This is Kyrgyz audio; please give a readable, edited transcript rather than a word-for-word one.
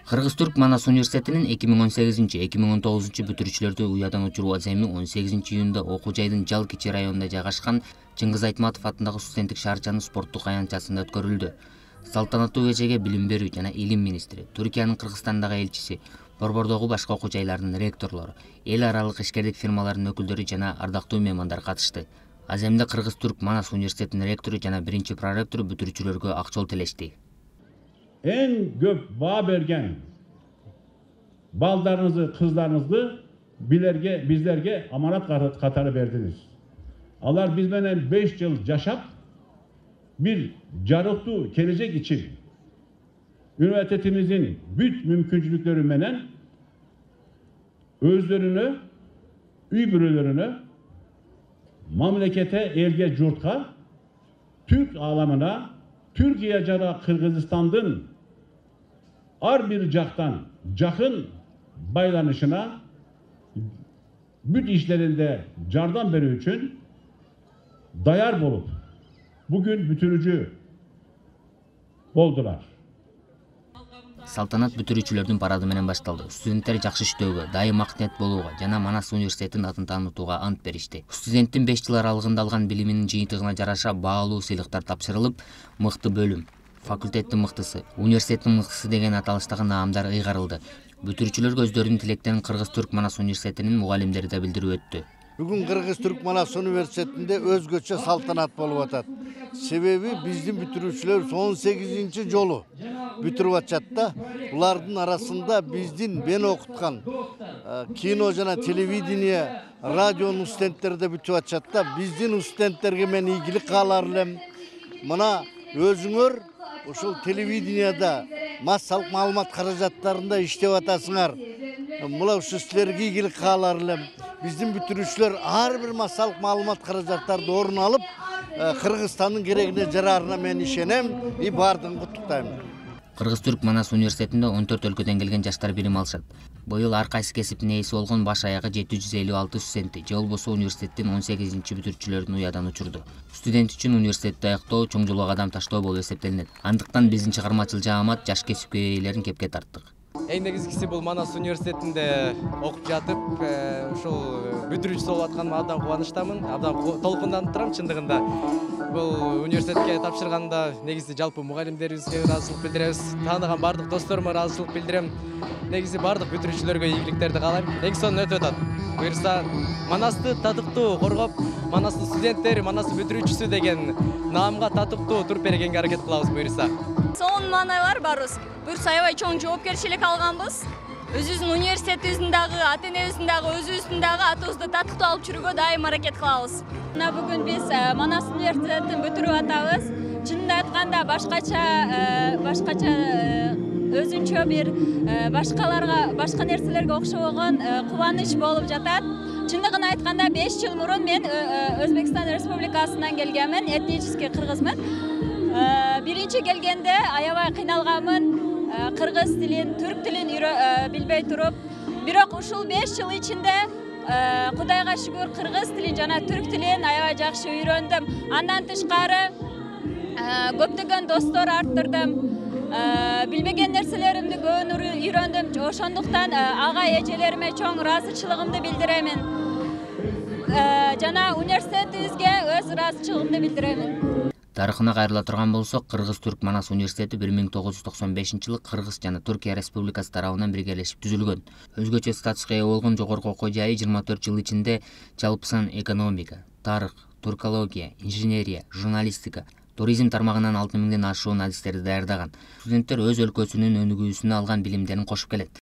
Кыргыз-Түрк Манас университетинин 2018-2019 бүтүрүүчүлөрдү уядан учуруу аземи 18 июнда окуу жайдын Жал Кичи районунда жайгашкан Чыңгыз Айтматов атындагы студенттик шаарчанын спорттук аянтчасында өткөрүлдү. Салтанаттуу кечеге билим берүү жана илим министри, Түркиянын Кыргызстандагы элчиси, борбордогу башка окуу жайлардын ректорлору, эл аралык ишкерлик фирмаларынын өкүлдөрү жана ардактуу меймандар катышты. Аземде Кыргыз-Түрк Манас университетинин ректору жана биринчи проректору бүтүрүүчүлөргө ак жол тилешти. En көп баа берген балдарыңызды, кыздарыңызды bizlerge аманат катары бердиңиz. Алар биз менен 5 жыл жашап, bir жарыктуу келечек için üniversitetimizin бүт мүмкүнчүлүктөрү менен өздөрүнө, үй бүлөлөрүнө, мамлекете, элге, журтка, Türk alamına, Türkiye жана Kırgızstandın ар bir жактан жакын байланышына бүт işlerinde жардам берүү үчүн dayar болуп, bugün бүтүрүүчү болдулар. Салтанат бүтүрүүчүлөрдүн парады менен башталды. Студенттер жакшы иштөөгө, дайым акниет болууга жана Манас университетинин атын таанытууга ант беришти. Студенттин 5 жыл аралыгында алган билиминин жыйынтыгына жараша баалуу сыйлыктар тапшырылып, мыкты бөлүм, факультеттин мыктысы, университеттин мыктысы деген аталыштагы наамдар ыйгарылды. Бүтүрүүчүлөргө өздөрүнүн тилектерин Кыргыз-Түрк Манас университетинин мугалимдери да билдирип өттү. Бүгүн Кыргыз-Түрк Манас университетинде өзгөчө салтанат болуп атат. Себеби биздин бүтүрүүчүлөр 18 жолу бүтүрүп атышат да. Булардын арасында биздин мен окуткан кино жана телевидение, радионун студенттери да бүтүп атышат да. Биздин студенттерге мен ийгилик каалар элем. Мына өзүңөр ушул телевиденияда массалык маалымат каражаттарында иштеп атасыңар. Мына ушу силерге ийгилик каалар элем. Биздин бүтүрүүчүлөр ар бир массалык маалымат каражаттарды орун алып, Кыргызстандын керегине жараарына мен ишенем, и бардыгын куттуктайм. Кыргыз-Түрк Манас университетинде 14 өлкөдөн келген жаштар билим алышат. Быйыл ар кайсы кесиптин ээси болгон баш аягы 756 студентти же болбосо университеттин 18 бүтүрүүчүлөрүн уядан учурду. Студент үчүн университетти аяктоо чоң жолго кадам таштоо болуп эсептелинет. Андыктан биздин чыгармачыл жаамат жаш кесипке ээлерин кепке тарттык. Эң негизгиси бул Манас университетинде окуп жатып, ушул бүтүрүүчүсү болуп атканыма абдан кубанычтамын, абдан толкунданып турам чындыгында. Бул университетке тапшырганда негизи жалпы мугалимдерибизге ыраазычылык билдиребиз, тааныган бардык досторума ыраазычылык билдирем. Негизи бардык бүтүрүүчүлөргө ийгиликтерди каалайм. Эң сонун өтүп атат. Буюрса Манасты татыктуу коргоп, Манастын студенттери, Манастын бүтүрүүчүсү деген наамга татыктуу туруп бергенге аракет кылабыз буюрса. Сонун маанайлар барбыз. Буюрса аябай чоң жоопкерчилик алганбыз. Өзүбүздүн университетибиздин дагы, ата энебиздин дагы, өзүбүздүн дагы атыбызды татыктуу алып жүрүүгө дайым аракет кылабыз. Мына бүгүн биз Манас университетин бүтүрүп атабыз. Чынында айтканда башкача өзүнчө бир башка нерселерге окшобогон кубаныч болуп жатат. Чындыгын айтканда 5 жыл мурун мен Өзбекстан Республикасынан келгенмин, этнический кыргызмын. Биринчи келгенде аябай кыйналганмын. Кыргыз тилин, түрк тилин билбей туруп, бирок ушул 5 жыл ичинде Кудайга шүгүр кыргыз тилин жана түрк тилин аябай жакшы үйрөндүм. Андан тышкары көптөгөн достор арттырдым. Билбеген нерселеримди көбүн үйрөндүм. Ошондуктан ага эжелериме чоң ыраазычылыгымды билдиремин. Жана университетибизге өз ыраазычылыгымды билдиремин. Тарыхына кайрыла турган болсок, Кыргыз-Түрк Манас университети 1995-жылы Кыргыз жана Түркия Республикасы тарабынан биргелешип түзүлгөн. Өзгөчө статуска ээ болгон жогорку окуу жайы 24 жыл ичинде жалпы сан экономика, тарых, туркология, инженерия, журналистика, туризм тармагынан 6000ден ашуун адистерди даярдаган. Студенттер өз өлкөсүнүн өнүгүүсүнө алган билимдерин кошуп келет.